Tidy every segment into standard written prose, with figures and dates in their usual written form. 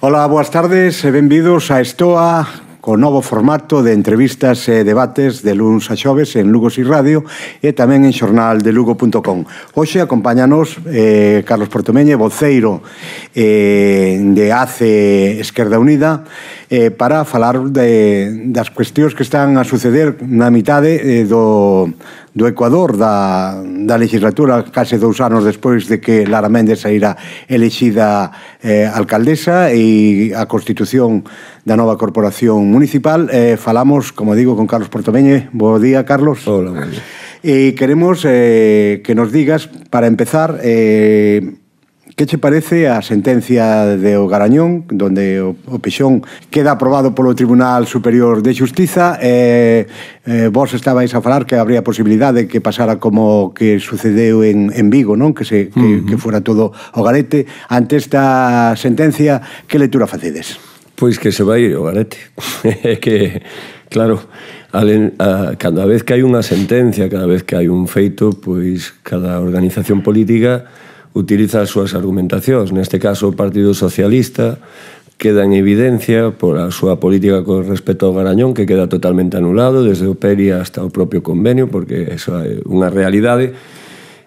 Ola, boas tardes e benvidos a Estoa, co novo formato de entrevistas e debates de luns a xoves en Lugo Si Radio e tamén en xornaldelugo.com. Hoxe acompáñanos Carlos Portomeñe, voceiro de ACE Esquerda Unida, para falar das cuestións que están a suceder na mitade do Ecuador da legislatura, case 2 anos despois de que Lara Méndez saíra elexida alcaldesa e a constitución da nova corporación municipal. Falamos, como digo, con Carlos Portomeñe. Bo día, Carlos. Hola, buen día. E queremos que nos digas, para empezar, que che parece a sentencia de O Garañón, donde o Pexón queda aprobado polo Tribunal Superior de Xustiza. Vos estabais a falar que habría posibilidade que pasara como que sucedeu en Vigo, non? Que fora todo o garete. Ante esta sentencia, que lectura facedes? Pois que se vai ir o garete. É que, claro, cada vez que hai unha sentencia, cada vez que hai un feito, pois cada organización política utiliza as súas argumentacións. Neste caso, o Partido Socialista queda en evidencia por a súa política con respecto ao Garañón, que queda totalmente anulado, desde o PERI hasta o propio convenio, porque eso é unha realidade.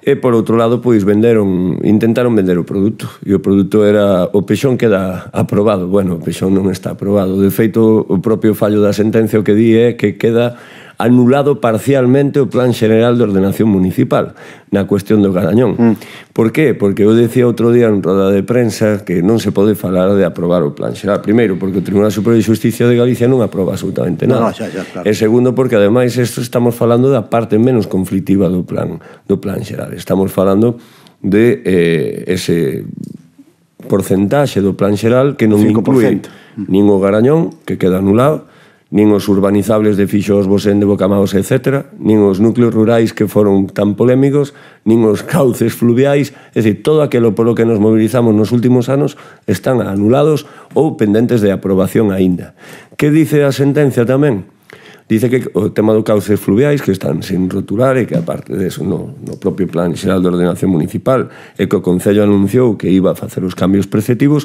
E, por outro lado, pois intentaron vender o produto. E o produto era... O Pexón queda aprobado. Bueno, o Pexón non está aprobado. De feito, o propio fallo da sentencia o que di é que queda anulado parcialmente o Plan Xeneral de Ordenación Municipal na cuestión do Garañón. Por qué? Porque eu decía outro día en roda de prensa que non se pode falar de aprobar o Plan Xeral. Primeiro, porque o Tribunal Superior de Xusticia de Galicia non aproba absolutamente nada. Claro. E segundo, porque ademais estamos falando da parte menos conflictiva do Plan Xeral. Estamos falando de ese porcentaxe do Plan Xeral que non inclui nin o Garañón, que queda anulado, nin os urbanizables de Fixos, Bosén, de Bocamaos, etc., nin os núcleos rurais que foron tan polémicos, nin os cauces fluviais, é dicir, todo aquilo polo que nos mobilizamos nos últimos anos están anulados ou pendentes de aprobación aínda. Que dice a sentencia tamén? Dice que o tema dos cauces fluviais que están sin roturar e que, aparte deso, no propio Plan Xeral de Ordenación Municipal e que o Concello anunciou que iba a facer os cambios preceptivos,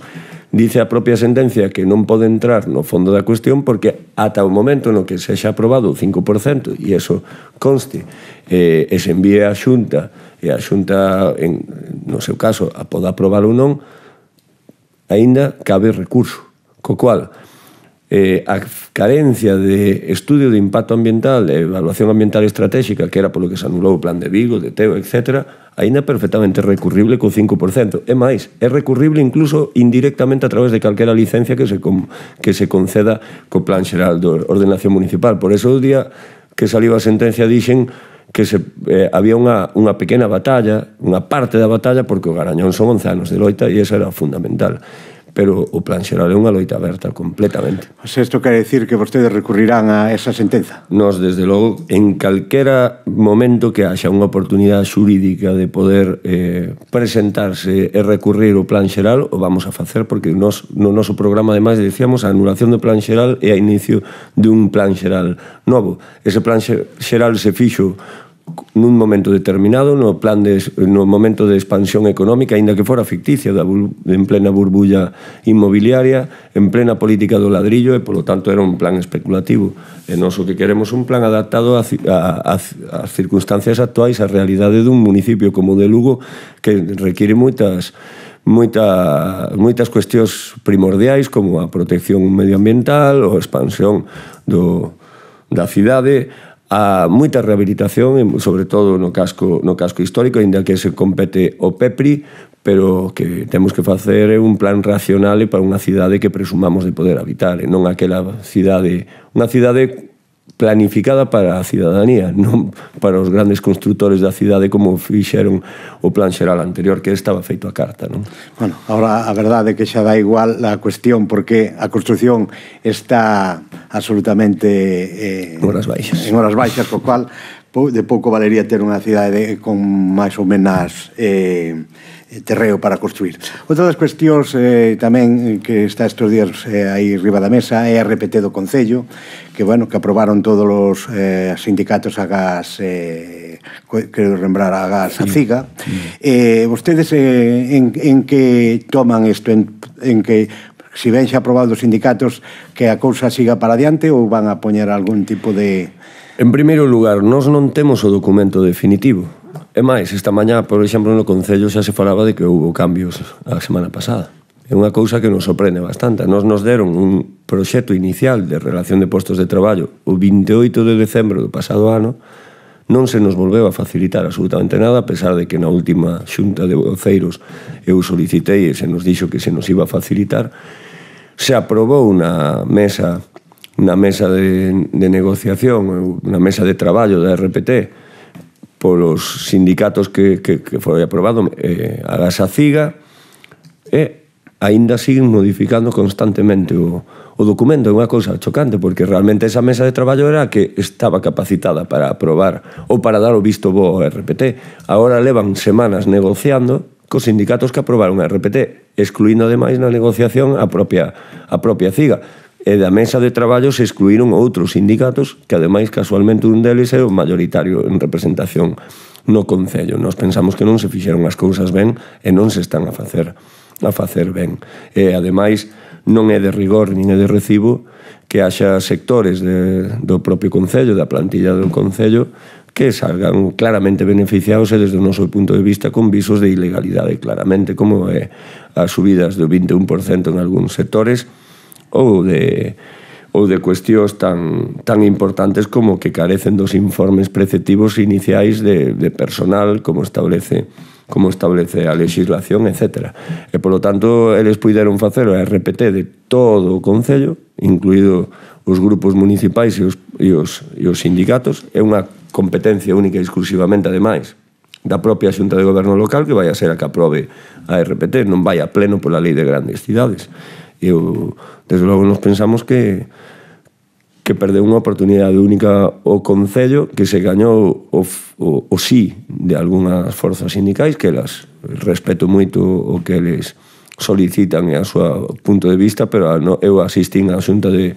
dice a propia sentencia que non pode entrar no fondo da cuestión porque ata o momento no que se xa aprobado o 5% e eso conste e se envíe á Xunta e a Xunta, no seu caso, a poda aprobar ou non, aínda cabe recurso. Co cual, a carencia de estudio de impacto ambiental e evaluación ambiental estratégica, que era polo que se anulou o Plan de Vigo, de Teo, etc., aínda perfectamente recurrible co 5%. É máis, é recurrible incluso indirectamente a través de calquera licencia que se conceda co Plan Xeral de Ordenación Municipal. Por eso o día que saliu a sentencia dixen que había unha pequena batalla, unha parte da batalla, porque o Garañón son 11 anos de loita e esa era fundamental. Pero o Plan Xeral é unha loita aberta completamente. Isto quere dicir que vostedes recurrirán a esa sentenza? Nos, desde logo, en calquera momento que haxa unha oportunidade xurídica de poder presentarse e recurrir o Plan Xeral, o vamos a facer, porque no noso programa, ademais, decíamos a anulación do Plan Xeral e a inicio dun Plan Xeral novo. Ese Plan Xeral se fixo nun momento determinado, no momento de expansión económica, aínda que fora ficticia, en plena burbulla inmobiliaria, en plena política do ladrillo, e polo tanto era un plan especulativo. E nós o que queremos un plan adaptado ás circunstancias actuais, á realidade dun municipio como o de Lugo, que require moitas cuestións primordiais, como a protección medioambiental, ou a expansión da cidade, a moita rehabilitación, sobre todo no casco histórico, ainda que se compete o PEPRI, pero que temos que facer un plan racional para unha cidade que presumamos de poder habitar, e non aquela cidade, unha cidade planificada para a cidadanía, non para os grandes constructores da cidade como fixeron o Plan Xeral anterior, que estaba feito a carta, non? Bueno, agora a verdade é que xa dá igual a cuestión, porque a construcción está absolutamente en horas baixas, co cual de pouco valería ter unha cidade con máis ou menos terreo para construir. Outra das cuestións tamén que está estes días aí riba da mesa é a RPT do Concello, que aprobaron todos os sindicatos a gas, quero lembrar, a gas a CIGA. Vostedes en que toman isto, en que si ben xa aprobado os sindicatos, que a cousa siga para adiante ou van a poñer algún tipo de... En primeiro lugar, nós non temos o documento definitivo. E máis, esta mañá, por exemplo, no Concello xa se falaba de que houve cambios a semana pasada. É unha cousa que nos sorprende bastante. Nos deron un proxecto inicial de relación de postos de traballo o 28 de decembro do pasado ano. Non se nos volveu a facilitar absolutamente nada, a pesar de que na última xunta de voceiros eu solicitei e se nos dixo que se nos iba a facilitar. Se aprobou unha mesa de negociación, unha mesa de traballo da RPT polos sindicatos que foi aprobado, a Gasaciga, e aínda siguen modificando constantemente o documento. É unha cousa chocante, porque realmente esa mesa de traballo era que estaba capacitada para aprobar ou para dar o visto bo ao RPT. Agora levan semanas negociando cos sindicatos que aprobaron a RPT, excluindo ademais na negociación a propia CIGA. E da mesa de traballo se excluíron outros sindicatos que ademais casualmente un deles é o mayoritario en representación no Concello. Nós pensamos que non se fixeron as cousas ben e non se están a facer ben. E ademais non é de rigor nin é de recibo que haxa sectores do propio Concello, da plantilla do Concello, que salgan claramente beneficiados e desde o noso punto de vista con visos de ilegalidade, claramente, como é as subidas do 21% en algúns sectores ou de cuestións tan importantes como que carecen dos informes preceptivos iniciais de personal como establece a legislación, etc. E, polo tanto, eles puideron facer a RPT de todo o Concello, incluído os grupos municipais e os sindicatos. É unha competencia única e exclusivamente, ademais, da propia Xunta de Goberno local, que vai a ser a que aprobe a RPT, non vai a pleno pola lei de grandes cidades. Desde logo nos pensamos que perdeu unha oportunidade única o Concello, que se gañou o sí de algunhas forzas sindicais, que elas respeto moito o que eles solicitan e a súa punto de vista, pero eu asistín á Xunta de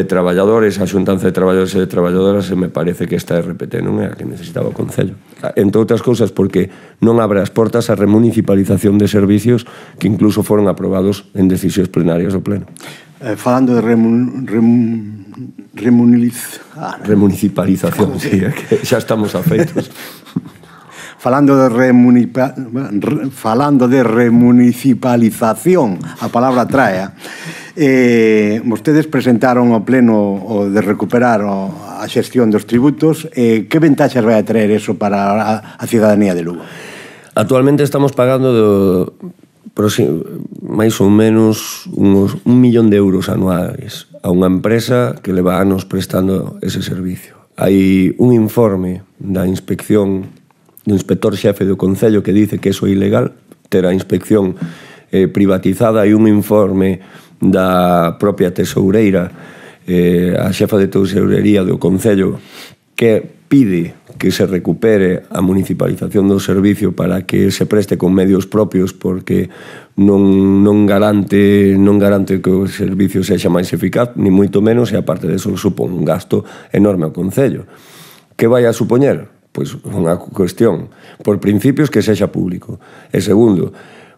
Traballadores, a Xuntanza de Traballadores e de Traballadoras, e me parece que esta RPT non é a que necesitaba o Concello. Entre outras cousas porque non abre as portas á remunicipalización de servicios que incluso foron aprobados en decisións plenarias do Pleno. Falando de remunicipalización, sí, que xa estamos afeitos. Falando de remunicipalización, a palabra trae, vostedes presentaron ao Pleno o de recuperar a xestión dos tributos. Que ventaxas vai a traer eso para a cidadanía de Lugo? Actualmente estamos pagando máis ou menos uns 1 millón de euros anuales a unha empresa que leva anos prestando ese servicio. Hai un informe da inspección do inspector xefe do Concello que dice que eso é ilegal, ter a inspección privatizada. Hai un informe da propia tesoureira, a xefa de tesourería do Concello, que pide que se recupere a municipalización do servicio para que se preste con medios propios, porque non garante que o servicio sexa máis eficaz, ni moito menos, e aparte de eso supón un gasto enorme ao Concello. Que vai a supoñer? Pois unha cuestión, por principios, que sexa público. E segundo,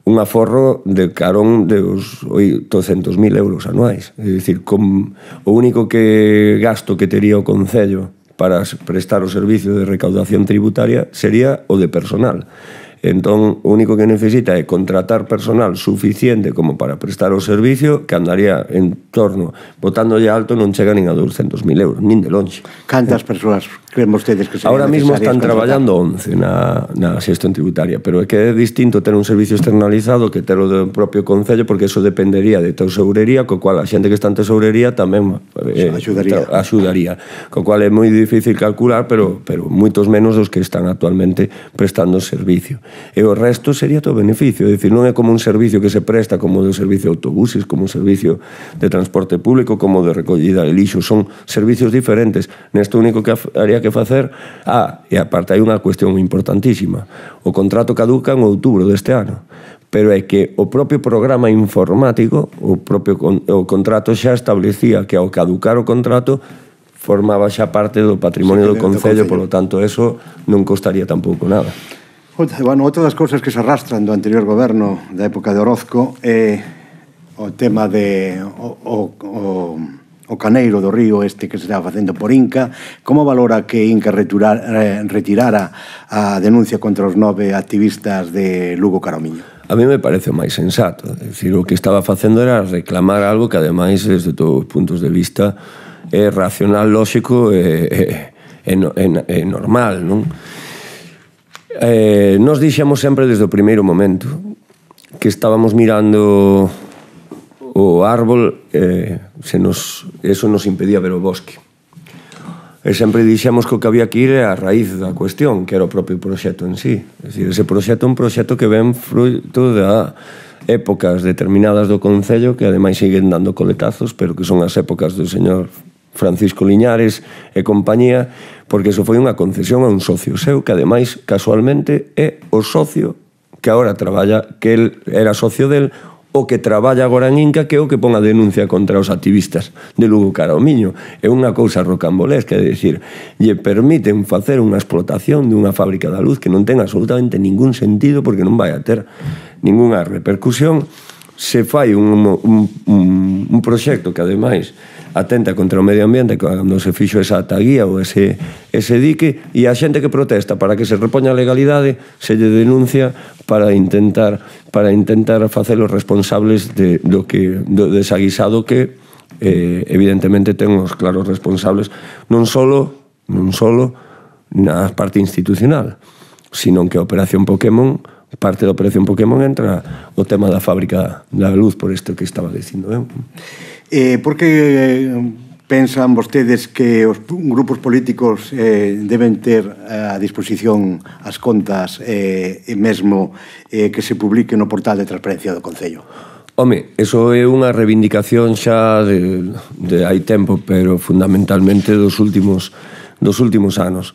un aforro de carón de os 800.000 euros anuais. É dicir, o único gasto que tería o Concello para prestar o servicio de recaudación tributaria sería o de personal. Entón, o único que necesita é contratar personal suficiente como para prestar o servicio, que andaría en torno, botándolle alto, non chega nin a 200.000 euros, nin de longe. Cantas persoas creen vostedes que serían ahora mismo están contratar? traballando 11 na xestión tributaria, pero é que é distinto ter un servicio externalizado que ter o do propio Concello, porque eso dependería de tesourería, co cual a xente que está en tesourería tamén axudaría, co cual é moi difícil calcular, pero moitos menos dos que están actualmente prestando servicio. E o resto sería todo beneficio, é dicir, non é como un servicio que se presta como de servicio de autobuses, como un servicio de transporte público, como de recollida de lixo, son servicios diferentes. Nesto único que haría que facer, e aparte hai unha cuestión importantísima, o contrato caduca en outubro deste ano, pero é que o propio programa informático, o contrato xa establecía que ao caducar o contrato formaba xa parte do patrimonio do Concello, polo tanto, eso non costaría tampouco nada. Bueno, outra das cousas que se arrastran do anterior goberno da época de Orozco é o tema de o caneiro do río este que se está facendo por Inca. Como valora que Inca retirara a denuncia contra os 9 activistas de Lugo Caromiño? A mí me parece o máis sensato. É dicir, o que estaba facendo era reclamar algo que, ademais, desde todos os puntos de vista, é racional, lóxico e normal, non? Nos dixemos sempre desde o primeiro momento que estábamos mirando o árbol, eso nos impedía ver o bosque. E sempre dixemos que o que había que ir é a raíz da cuestión, que era o propio proxecto en sí. É dicir, ese proxecto é un proxecto que ven fruto de épocas determinadas do Concello, que ademais siguen dando coletazos, pero que son as épocas do señor Francisco Liñares e compañía, porque eso foi unha concesión a un socio seu, que ademais, casualmente, é o socio que agora traballa, que el era socio del, o que traballa agora en Inca, que é o que pon a denuncia contra os activistas de Lugo Caromiño. É unha cousa rocambolesca, é dicir, lle permiten facer unha explotación dunha fábrica da luz que non ten absolutamente ningún sentido, porque non vai a ter ninguna repercusión. Se fai un proxecto que, ademais, atenta contra o medio ambiente cando se fixo esa taguía ou ese dique, e a xente que protesta para que se repoña a legalidade se lle denuncia para intentar facelos responsables do desaguisado que evidentemente ten os claros responsables non solo na parte institucional, sino que a Operación Pokémon, parte da Operación Pokémon, entra o tema da fábrica da luz, por isto que estaba dicindo. Por que pensan vostedes que os grupos políticos deben ter a disposición as contas e mesmo que se publique no portal de transparencia do Concello? Home, eso é unha reivindicación xa de hai tempo, pero fundamentalmente dos últimos anos.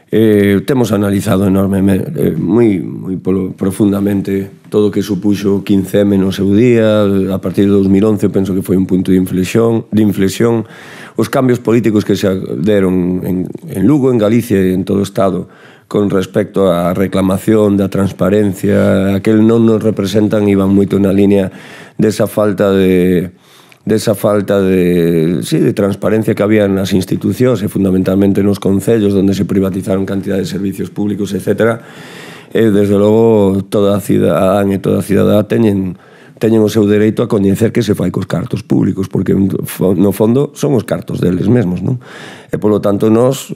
Temos analizado enormemente, moi profundamente, todo o que supuxo 15M no seu día. A partir de 2011 penso que foi un punto de inflexión, os cambios políticos que se deron en Lugo, en Galicia e en todo o Estado con respecto á reclamación da transparencia, aquel non nos representan, iban moito na línea desa falta de transparencia que había nas institucións e fundamentalmente nos concellos, onde se privatizaron cantidad de servicios públicos, etc. E, desde logo, toda a cidadán e toda a cidadá teñen o seu dereito a coñecer que se fai cos cartos públicos, porque no fondo son os cartos deles mesmos, non? E, polo tanto, nós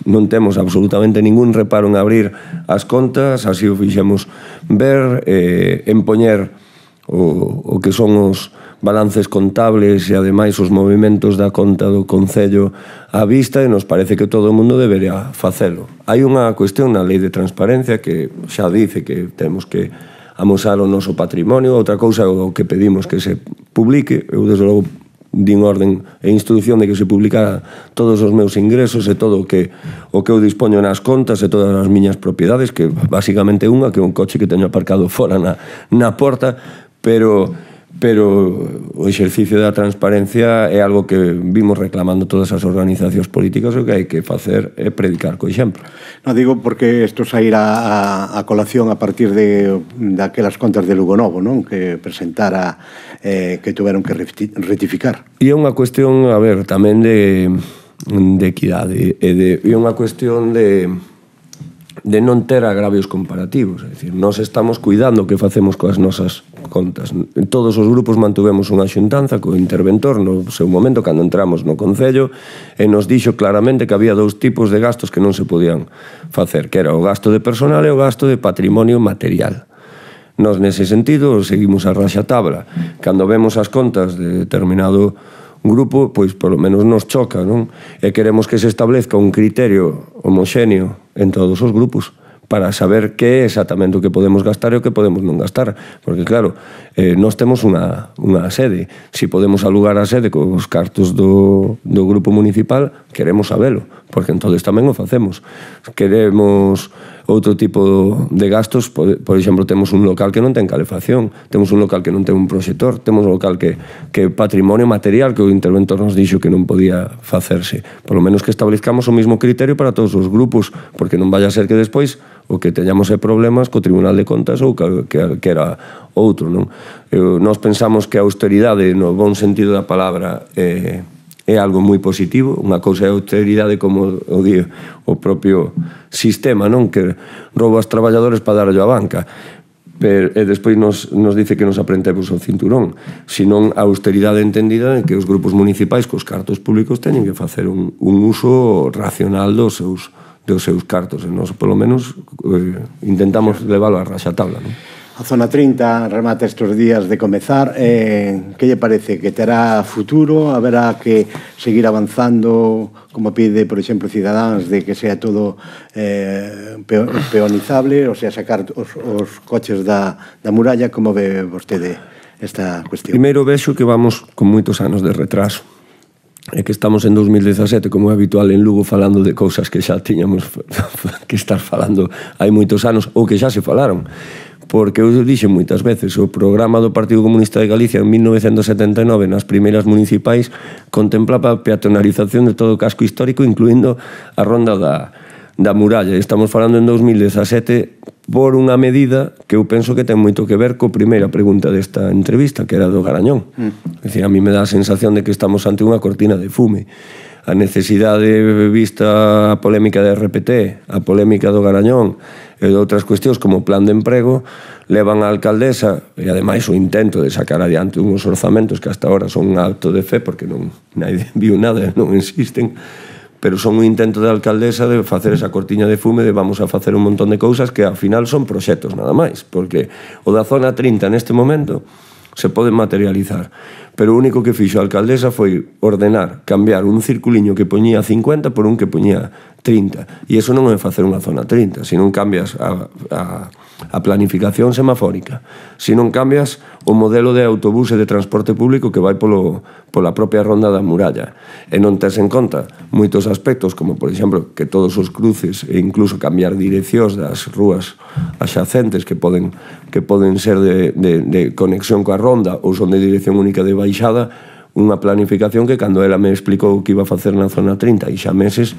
non temos absolutamente ningún reparo en abrir as contas, así o fixemos ver, en poñer o que son os balances contables e, ademais, os movimentos da conta do Concello á vista, e nos parece que todo o mundo debería facelo. Hai unha cuestión na Lei de Transparencia que xa dice que temos que amosar o noso patrimonio. Outra cousa é o que pedimos que se publique. Eu, desde logo, din orden e instrucción de que se publicara todos os meus ingresos e todo o que eu dispoño nas contas e todas as miñas propiedades, que basicamente unha, que é un coche que teño aparcado fora na porta, pero o exercicio da transparencia é algo que vimos reclamando todas as organizacións políticas, o que hai que facer é predicar co exemplo. Non digo porque isto sairá a colación a partir daquelas contas de Lugo Novo, non? Que presentara, que tuveron que rectificar. E é unha cuestión, a ver, tamén de equidade, e unha cuestión de non ter agravios comparativos. É dicir, nós estamos cuidando o que facemos coas nosas contas. En todos os grupos mantuvemos unha xuntanza co interventor no seu momento, cando entramos no Concello, e nos dixo claramente que había dous tipos de gastos que non se podían facer, que era o gasto de personal e o gasto de patrimonio material. Nós, nese sentido, seguimos a raxatabla. Cando vemos as contas de determinado grupo, pois polo menos nos choca, non? E queremos que se establezca un criterio homoxéneo en todos os grupos para saber que é exactamente o que podemos gastar e o que podemos non gastar. Porque, claro, nós temos unha sede. Se podemos alugar a sede cos cartos do grupo municipal, queremos sabelo, porque entonces tamén o facemos. Queremos outro tipo de gastos. Por exemplo, temos un local que non ten calefacción, temos un local que non ten un proxector, temos un local que é patrimonio material que o interventor nos dixo que non podía facerse. Por lo menos que establezcamos o mismo criterio para todos os grupos, porque non vaya a ser que despois o que teñamos problemas co Tribunal de Contas ou que era outro, non? Nós pensamos que a austeridade, no bon sentido da palabra, é algo moi positivo. Unha cousa é a austeridade, como o di o propio sistema, non? Que rouba aos traballadores para darlle a banca, e despois nos dice que nos aprentemos o cinturón, senón a austeridade entendida en que os grupos municipais cos cartos públicos teñen que facer un uso racional dos seus cartos, e nós, polo menos, intentamos leválo a raxatabla, non? A Zona 30 remata estes días de comezar. Que lle parece? Que terá futuro? Haberá que seguir avanzando, como pide, por exemplo, Cidadáns, de que sea todo peonizable, o sea, sacar os coches da muralla? Como ve vostede esta cuestión? Primeiro vexo que vamos con moitos anos de retraso. É que estamos en 2017, como é habitual en Lugo, falando de cousas que xa tiñamos que estar falando hai moitos anos, ou que xa se falaron. Porque eu dixen moitas veces, o programa do Partido Comunista de Galicia en 1979, nas primeiras municipais, contemplaba a peatonalización de todo o casco histórico, incluindo a ronda da muralla. Estamos falando en 2017 por unha medida que eu penso que ten moito que ver co primeira pregunta desta entrevista, que era do Garañón. É dicir, a mí me dá a sensación de que estamos ante unha cortina de fume. A necesidade vista a polémica de RPT, a polémica do Garañón e de outras cuestións como o plan de emprego levan a alcaldesa, e ademais o intento de sacar adiante unhos orzamentos que hasta ahora son un acto de fe porque non nadie viu nada, non existen, pero son un intento de alcaldesa de facer esa cortiña de fume de vamos a facer un montón de cousas que ao final son proxectos nada máis, porque o da Zona 30 neste momento se pode materializar, pero o único que fixo a alcaldesa foi ordenar, cambiar un circuliño que poñía 50 por un que poñía 30, e iso non é facer unha Zona 30, se non cambias a planificación semafórica, se non cambias o modelo de autobús e de transporte público que vai pola propia ronda da muralla, e non tes en conta moitos aspectos, como por exemplo que todos os cruces e incluso cambiar direccións das rúas axacentes que poden ser de conexión coa ronda ou son de dirección única de baixada, unha planificación que cando ela me explicou que iba a facer na Zona 30 e xa meses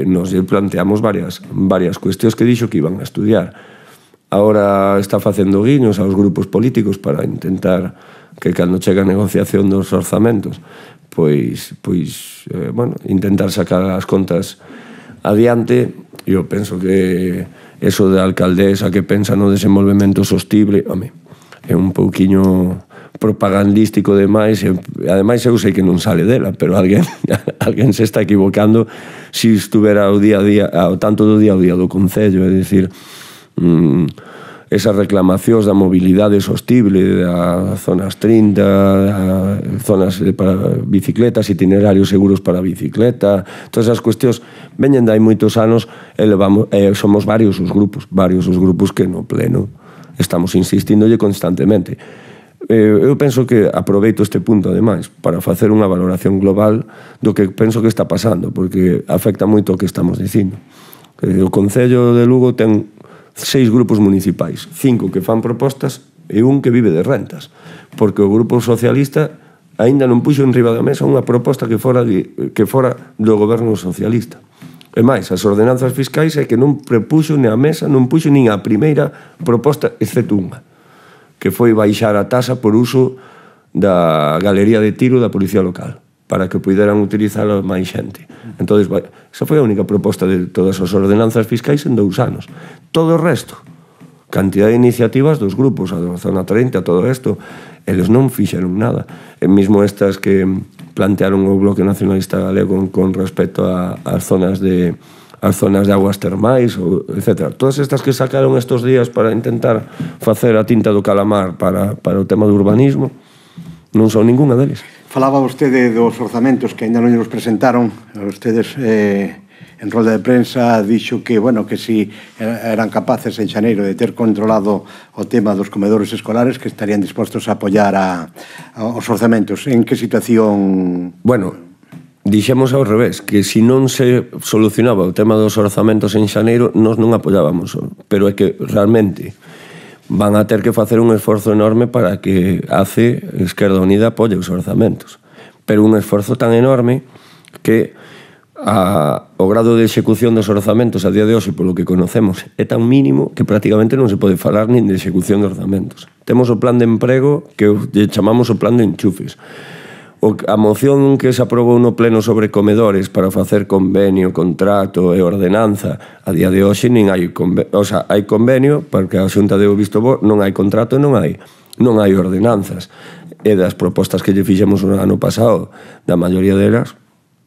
nos planteamos varias cuestións que dixo que iban a estudiar. Ahora está facendo guiños aos grupos políticos para intentar que cando chega a negociación dos orzamentos intentar sacar as contas adiante. Eu penso que eso de alcaldesa que pensa no desenvolvemento sostible, é un pouquiño propagandístico demais, e ademais eu sei que non sale dela, pero alguén se está equivocando se estuvera ao día a día, ao tanto do día a día do Concello, é dicir, esas reclamacións da mobilidade sostible, das zonas 30, zonas para bicicletas, itinerarios seguros para bicicleta, todas esas cuestións veñen de hai moitos anos e somos varios os grupos que no pleno estamos insistindolle constantemente. Eu penso que aproveito este punto, ademais, para facer unha valoración global do que penso que está pasando, porque afecta moito o que estamos dicindo. O Concello de Lugo ten 6 grupos municipais, 5 que fan propostas e un que vive de rentas, porque o Grupo Socialista aínda non puxo enriba da mesa unha proposta que fora do goberno socialista. E máis, as ordenanzas fiscais é que non prepuxo nin a mesa, non puxo nin a primeira proposta, excepto unha, que foi baixar a tasa por uso da galería de tiro da Policía Local, para que puderan utilizar máis xente. Entón, esa foi a única proposta de todas as ordenanzas fiscais en 2 anos. Todo o resto, cantidad de iniciativas dos grupos, a Zona 30, todo isto, eles non fixeron nada. E mesmo estas que plantearon o Bloque Nacionalista Galego con respecto ás zonas de aguas termais, etc. Todas estas que sacaron estos días para intentar facer a tinta do calamar para o tema do urbanismo, non son ninguna deles. Falaba vostede dos orzamentos que ainda non nos presentaron. Vostedes en rolda de prensa dixo que, que si eran capaces en xaneiro de ter controlado o tema dos comedores escolares, que estarían dispostos a apoiar os orzamentos. En que situación... dixemos ao revés, que se non se solucionaba o tema dos orzamentos en xaneiro, nós non apoiábamos, pero é que realmente van a ter que facer un esforzo enorme para que ACE, Esquerda Unida, apoie os orzamentos. Pero un esforzo tan enorme que o grado de execución dos orzamentos a día de hoxe, polo que conocemos, é tan mínimo que prácticamente non se pode falar nin de execución de orzamentos. Temos o plan de emprego que chamamos o plan de enchufes. A moción que se aprobou no pleno sobre comedores para facer convenio, contrato e ordenanza, a día de hoxe nin hai convenio, o sea, hai convenio, porque a Xunta deu visto bo, non hai contrato e non hai ordenanzas. E das propostas que lle fixemos o ano pasado, da maioría delas,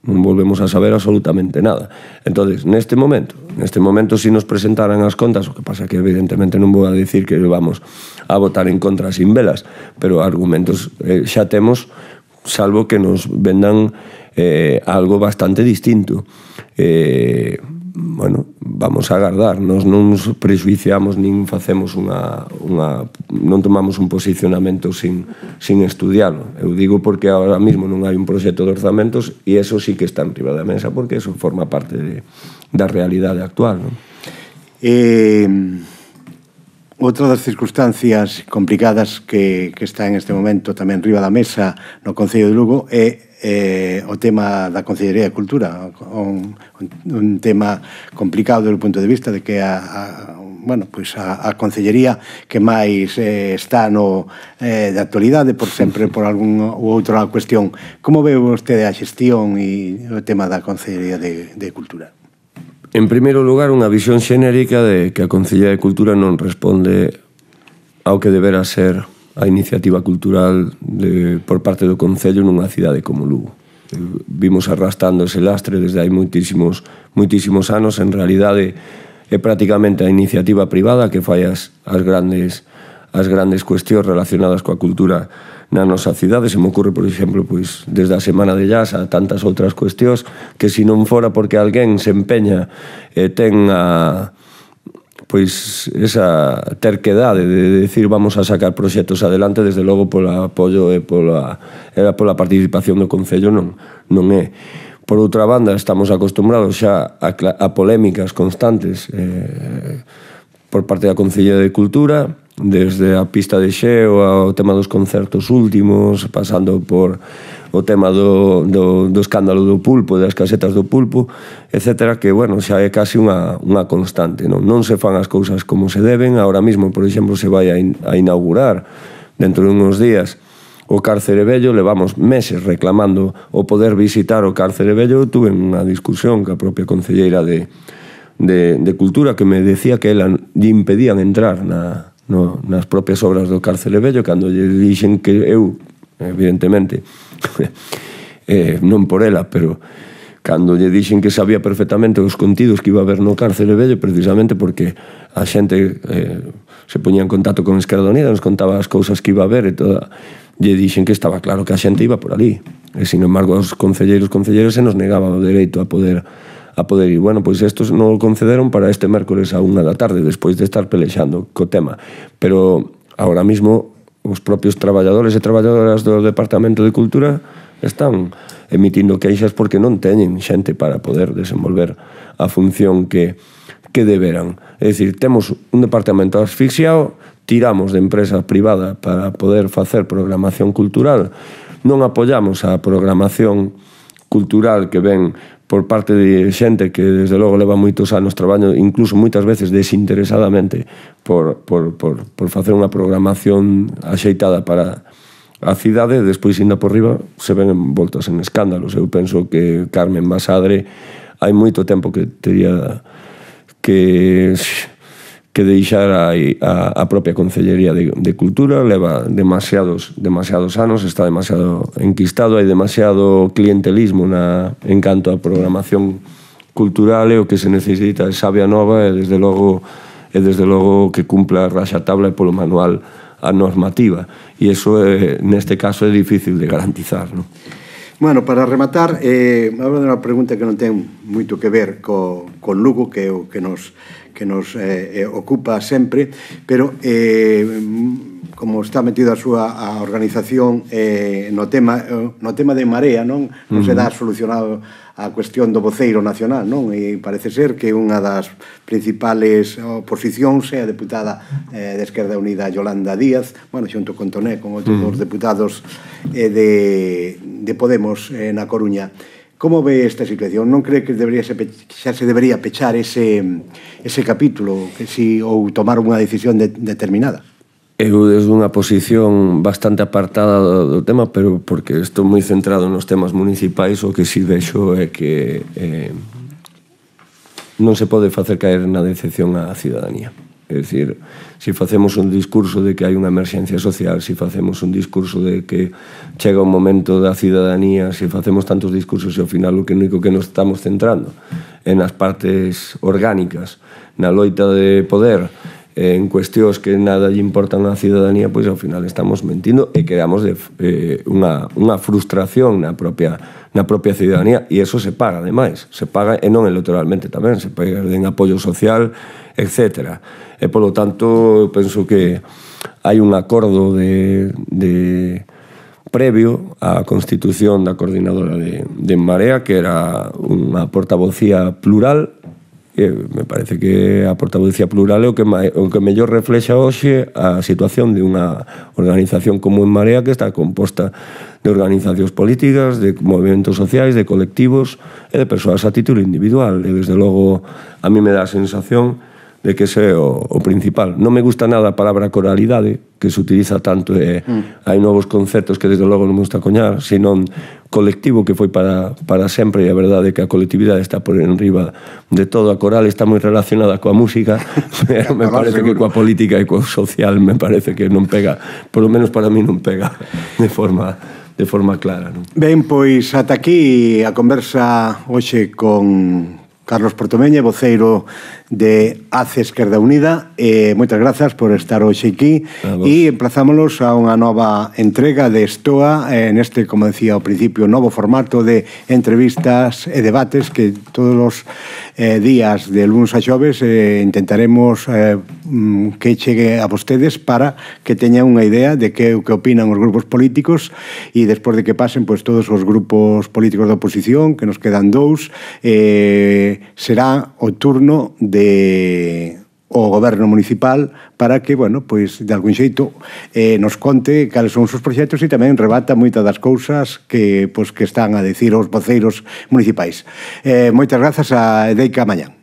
non volvemos a saber absolutamente nada. Entonces, neste momento, si nos presentaran as contas, o que pasa que evidentemente non vou a decir que vamos a votar en contra sin velas, pero argumentos xa temos, salvo que nos vendan algo bastante distinto. Bueno, vamos a agardar, nos non nos prexuiciamos nin facemos non tomamos un posicionamento sin estudiarlo. Eu digo porque ahora mismo non hai un proxecto de orzamentos e eso sí que está en riba da mesa, porque eso forma parte da realidade actual, non? Outra das circunstancias complicadas que está en este momento tamén riba da mesa no Concello de Lugo é o tema da Concellería de Cultura, un tema complicado desde o punto de vista de que a Concellería que máis está de actualidade por sempre por algún ou outra cuestión. Como ve vostede a xestión e o tema da Concellería de Cultura? En primeiro lugar, unha visión xenérica de que a Concellería de Cultura non responde ao que debera ser a iniciativa cultural por parte do Concello nunha cidade como Lugo. Vimos arrastrando ese lastre desde hai moitísimos anos. En realidade, é prácticamente a iniciativa privada que fai as grandes cuestións relacionadas coa cultura na nosa cidade. Se me ocurre, por exemplo, desde a Semana de Jazz a tantas outras cuestións que se non fora porque alguén se empeña e ten esa terquedade de decir vamos a sacar proxectos adelante, desde logo polo apoio e pola participación do Concello non é. Por outra banda, estamos acostumbrados xa a polémicas constantes por parte da Concellería de Cultura, desde a pista de xeo ao tema dos concertos últimos, pasando por o tema do escándalo do pulpo, das casetas do pulpo, etcétera, que, bueno, xa é casi unha constante, non se fan as cousas como se deben. Ahora mismo, por exemplo, se vai a inaugurar dentro de uns días o Cárcere Vello, levamos meses reclamando o poder visitar o Cárcere Vello. Tuve unha discusión ca propia concelleira de Cultura que me decía que ela lle impedían entrar nas propias obras do Cárcere Vello, cando lle dixen que eu, evidentemente, non por ela, pero cando lle dixen que sabía perfectamente os contidos que iba a haber no Cárcere Vello, precisamente porque a xente se poñía en contacto con Esquerda Unida, nos contaba as cousas que iba a haber e toda, lle dixen que estaba claro que a xente iba por ali, e sin embargo aos concelleiras se nos negaba o dereito a poder ir. Bueno, pois estos non o concederon para este mércoles a 1 da tarde, despois de estar pelexando co tema. Pero agora mismo os propios traballadores e traballadoras do Departamento de Cultura están emitindo queixas porque non teñen xente para poder desenvolver a función que deberan. É dicir, temos un departamento asfixiado, tiramos de empresa privada para poder facer programación cultural, non apoiamos a programación cultural que ven por parte de xente que desde logo leva moitos anos traballando, incluso moitas veces desinteresadamente por facer unha programación axeitada para a cidade, despois indo por riba se ven envoltos en escándalos. Eu penso que Carmen Basadre hai moito tempo que teria que deixar a propia Concellería de Cultura. Leva demasiados anos, está demasiado enquistado, hai demasiado clientelismo en canto a programación cultural, e o que se necesita é sabia nova e desde logo que cumpla a raxatabla e polo manual a normativa, e iso neste caso é difícil de garantizar, non? Bueno, para rematar, vou dar unha pregunta que non ten moito que ver con Lugo, que é o que nos ocupa sempre, pero como está metido a súa organización no tema de Marea, non? Non se dá solucionado a cuestión do voceiro nacional, non? E parece ser que unha das principales oposicións é a deputada de Esquerda Unida Yolanda Díaz, bueno, xunto con Toné, con outros dos deputados de Podemos na Coruña. Como ve esta situación? Non cree que xa se debería pechar ese capítulo ou tomar unha decisión determinada? Eu desde unha posición bastante apartada do tema, pero porque estou moi centrado nos temas municipais, o que si vexo é que non se pode facer caer na decepción á cidadanía. É dicir, se facemos un discurso de que hai unha emerxencia social, se facemos un discurso de que chega un momento da cidadanía, se facemos tantos discursos e ao final o único que nos estamos centrando é nas partes orgánicas, na loita de poder, en cuestións que nada lle importan á cidadanía, pois ao final estamos mentindo e creamos unha frustración na propia cidadanía, e eso se paga, ademais, se paga, e non electoralmente tamén, se paga en apoio social, etc. E, polo tanto, penso que hai un acordo previo á constitución da coordinadora de Marea, que era unha portavocía plural. Me parece que a portavocía plural é o que mellor reflexa hoxe a situación de unha organización como en Marea, que está composta de organizacións políticas, de movimentos sociais, de colectivos e de persoas a título individual. E, desde logo, a mí me dá a sensación de que ese é o principal. Non me gusta nada a palabra coralidade, que se utiliza tanto, e hai novos conceptos que desde logo non me gusta coñar, senón colectivo, que foi para sempre, e a verdade é que a colectividade está por enriba de todo. A coral está moi relacionada coa música, pero me parece que coa política e coa social me parece que non pega, por lo menos para mí non pega de forma clara. Ben, pois ata aquí a conversa hoxe con Carlos Portomeña, voceiro de ACE Esquerda Unida. Moitas grazas por estar hoxe aquí e emplazámonos a unha nova entrega de Estoa neste, como decía ao principio, novo formato de entrevistas e debates que todos os días de luns a xoves intentaremos que chegue a vostedes para que teñan unha idea de que opinan os grupos políticos, e despois de que pasen todos os grupos políticos da oposición, que nos quedan 2, será o turno o goberno municipal para que, bueno, pois de algún xeito nos conte cales son os seus proxectos e tamén rebata moitas das cousas que están a decir os voceiros municipais. Moitas grazas, e deica mañán.